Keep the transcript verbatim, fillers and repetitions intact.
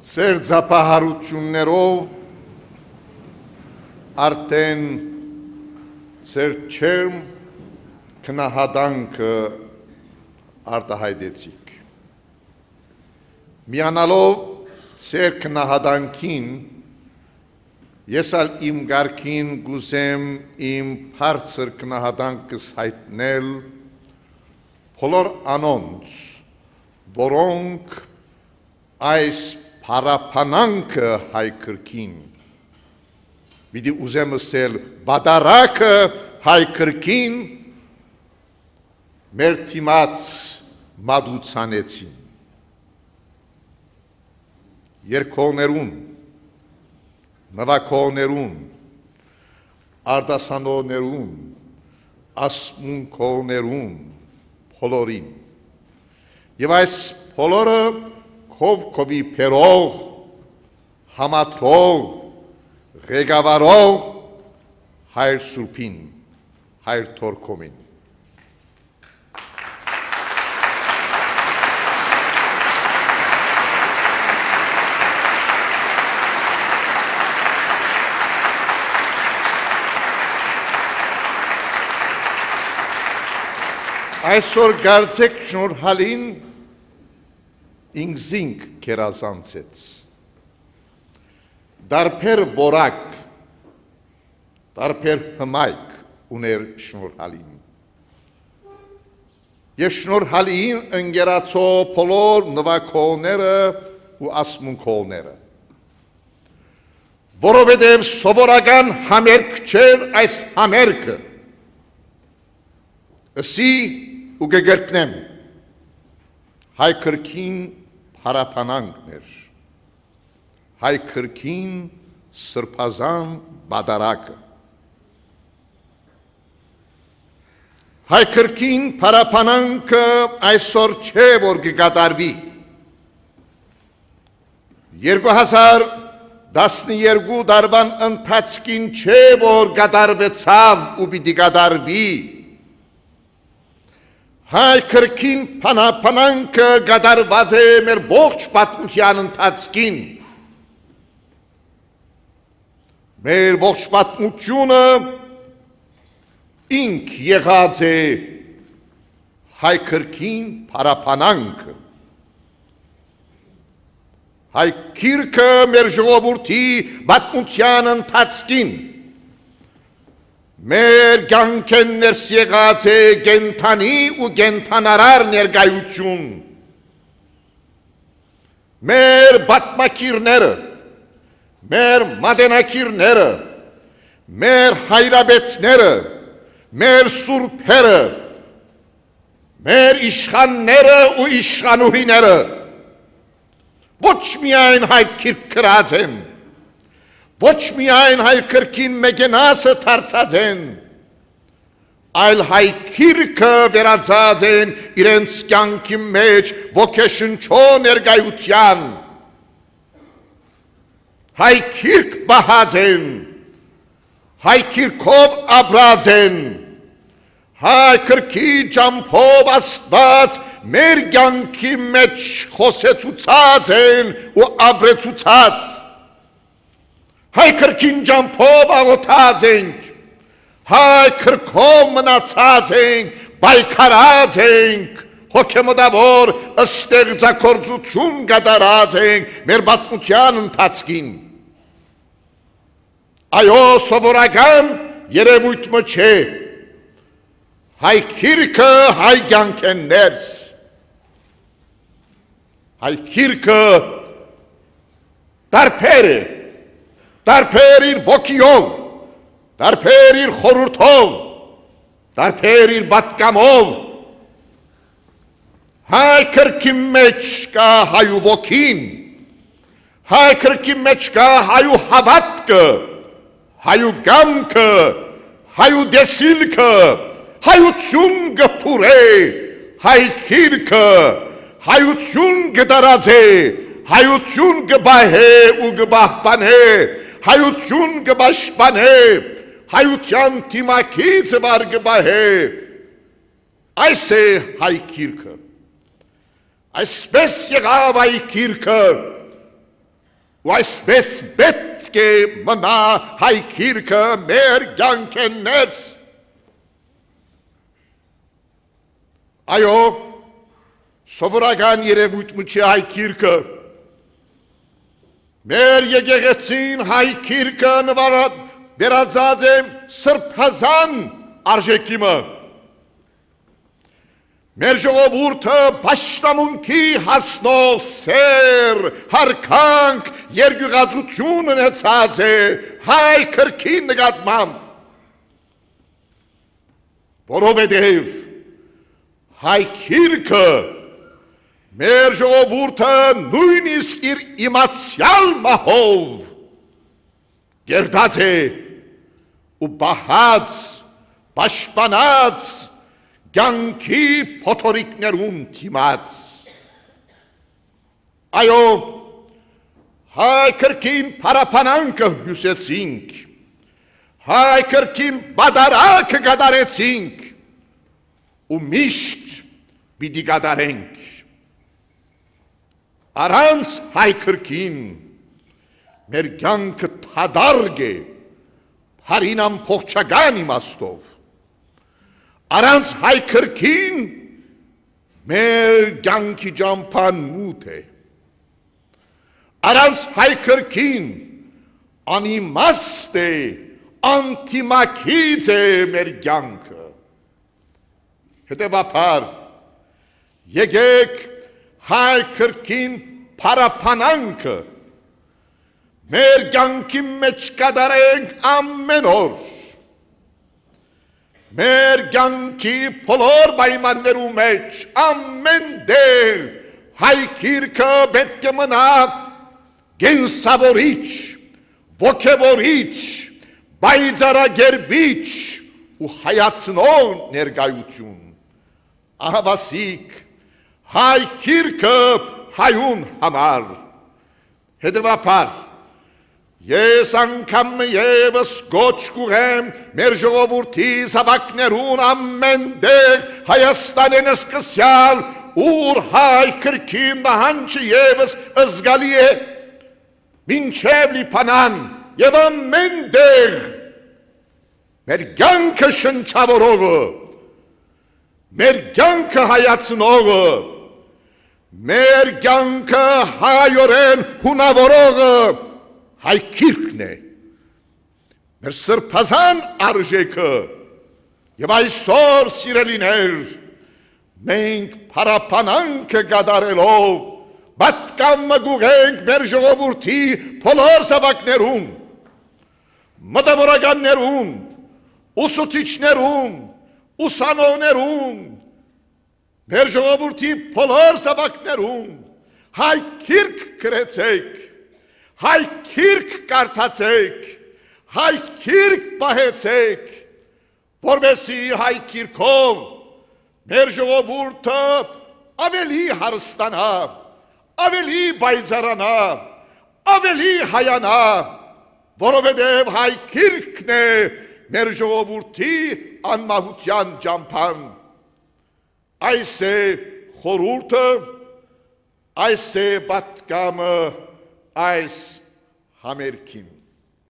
Ձեր ծափահարութիւններով արդէն ձեր ջերմ գնահատանքը արտայայտեցիք։ Միանալով ձեր գնահատանքին, ես ալ իմ կարգին կ'ուզեմ իմ բարձր գնահատանքս յայտնել բոլոր անոնց, որոնք այս փառաբանանքը հայ կրկին, պիտի ուզեմ ըսել, պատարագը հայ կրկին մեր դիմաց մատուցանեցին։ Երկողներուն, նուագողներուն, արտասանողներուն, ասմունքողներուն, բոլորին։ Եւ այս բոլորը քով քովի բերող, համադրող, ղեկավարող հայր Սուրբին, հայր Թորքոմին։ Այսօր կարծեք շնորհալին ինքզինք գերազանցեց։ Տարբեր որակ, տարբեր հմայք ունէր շնորհալին։ Եւ շնորհալին ընկերացող բոլոր նուագողները ու ասմունքողները, որովհետեւ սովորական համերգ չէր այս համերգը, ըսի ու կը կրկնեմ, հայ կրկին փառաբանանքն էր, հայ կրկին սրբազան պատարագը։ Հայ կրկին փառաբանանքը այսօր չէ որ կը կատարուի։ Երկու հազար տասներկու տարուան ընթացքին չէ որ կատարուեցաւ ու պիտի կատարուի։ Հայ կրկին փառաբանանքը կատարուած է մեր ողջ պատմութեան ընթացքին։ Մեր ողջ պատմութիւնը ինք եղած է հայ կրկին փառաբանանքը։ Հայ գիրքը մեր ժողովուրդի պատմութեան ընթացքին, մեր կյանքէն ներս եղած է կենդանի ու կենդանարար ներկայութիւն։ Մեր պատմագիրները, մեր մատենագիրները, մեր հայրապետները, մեր սուրբերը, մեր իշխանները ու իշխանուհիները ոչ միայն հայ գիրք գրած են, ոչ միայն հայ կրկին մեկենասը դարձած են, այլ հայ գիրքը վերածած են իրենց կյանքի մեջ ոգեշնչող ներկայութեան։ Հայ գիրք պահած են, հայ գիրքով ապրած են, հայ կրկի ճամբով Աստուած մեր կյանքի մեջ խօսեցուցած են ու ապրեցուցած։ Հայ կրկին ճամբով աղօթած ենք, հայ կրկով մնացած ենք, պայքարած ենք, հոգեմտաւոր ստեղծագործութիւն կատարած ենք մեր պատմութեան ընթացքին։ Այո, սովորական երեւոյթ մը չէ։ Հայ գիրքը հայ կյանքէն ներս։ Հայ գիրքը տարբեր է, տարբեր իր ոգիով, տարբեր իր խորհուրդով, տարբեր իր պատգամով։ Հայ կրկի մեջ կայ հայու ոգին, հայ կրկի մեջ կայ հայու հաւատքը, հայու կամքը, հայու տեսիլքը, հայութիւն կը փուռէ, հայ գիրքը հայութիւն կը տարածէ, հայութիւն կը պահէ ու կը պահպանէ, հայութիւն կը պաշտպանէ, հայութեան դիմագիծը վար կը պահէ։ Այս է հայ գիրքը։ Այսպէս եղաւ հայ գիրքը, Ու այսպէս պէտք է մնայ հայ գիրքը մեր կեանքէն ներս։ Այո, սովորական երեւոյթ մը չէ հայ գիրքը։ Մեր եկեղեցին հայ գիրքը նվարա-, վերածած է սրբազան արժէքի մը։ Մեր ժողովուրդը պաշտամունքի հասնող սէր, յարգանք, երկիւղածութիւն ունեցած է հայ կրկին նկատմամբ, որովհետեւ հայ գիրքը մեր ժողովուրդը նոյնիսկ իր իմացեալ մահով կերտած է ու պահած, պաշտպանած կեանքի փոթորիկներուն դիմաց։ Այո, հայ կրկին փառաբանանքը հիւսեցինք, հայ կրկին պատարագը կատարեցինք ու միշտ պիտի կատարենք։ Առանց հայ կրկին մեր կեանքը դատարկ է, բառին ամբողջական իմաստով։ Առանց հայ կրկին մեր կեանքի ճամբան մութ է։ Առանց հայ կրկին անիմաստ է, անդիմագիծ է մեր կեանքը։ Հետեւաբար, եկեք հայ կրկին փառաբանանքը մեր կեանքի մէջ կատարենք ամէն օր։ Մեր կեանքի բոլոր պայմաններու մէջ, ամէն տեղ հայ գիրքը պէտք է մնայ կենսաւորիչ, ոգեւորիչ, պայծառակերպիչ ու հայացնող ներկայութիւն։ Ահաւասիկ, հայ գիրքը հայուն համար։ Հետեւաբար, ես անգամ մը եւս կոչ կ'ուղղեմ մեր ժողովուրդի զաւակներուն ամէն տեղ, Հայաստանէն սկսեալ, ուր հայ կրկին նահանջը եւս զգալի է, մինչեւ Լիբանան եւ ամէն տեղ, մեր կեանքը շնչաւորողը, մեր կեանքը հայացնողը, մեր կեանքը հայօրէն հունաւորողը հայ գիրքն է։ Մեր սրբազան արժէքը։ Եւ այսօր, սիրելիներ, մենք փառաբանանքը կատարելով պատգամ մը կ'ուղղենք մեր ժողովուրդի բոլոր զաւակներուն, մտավորականներուն, ուսուցիչներուն, ուսանողներուն, մեր ժողովուրդի բոլոր զաւակներուն, հայ գիրք գրեցէք, հայ գիրք կարդացէք, հայ գիրք պահեցէք, որպեսզի հայ գիրքով մեր ժողովուրդը աւելի հարստանայ, աւելի պայծառանայ, աւելի հայանայ, որովհետեւ հայ գիրքն է մեր ժողովուրդի անմահութեան ճամբան։ Այս է խորհուրդը, այս է պատգամը այս համերգին։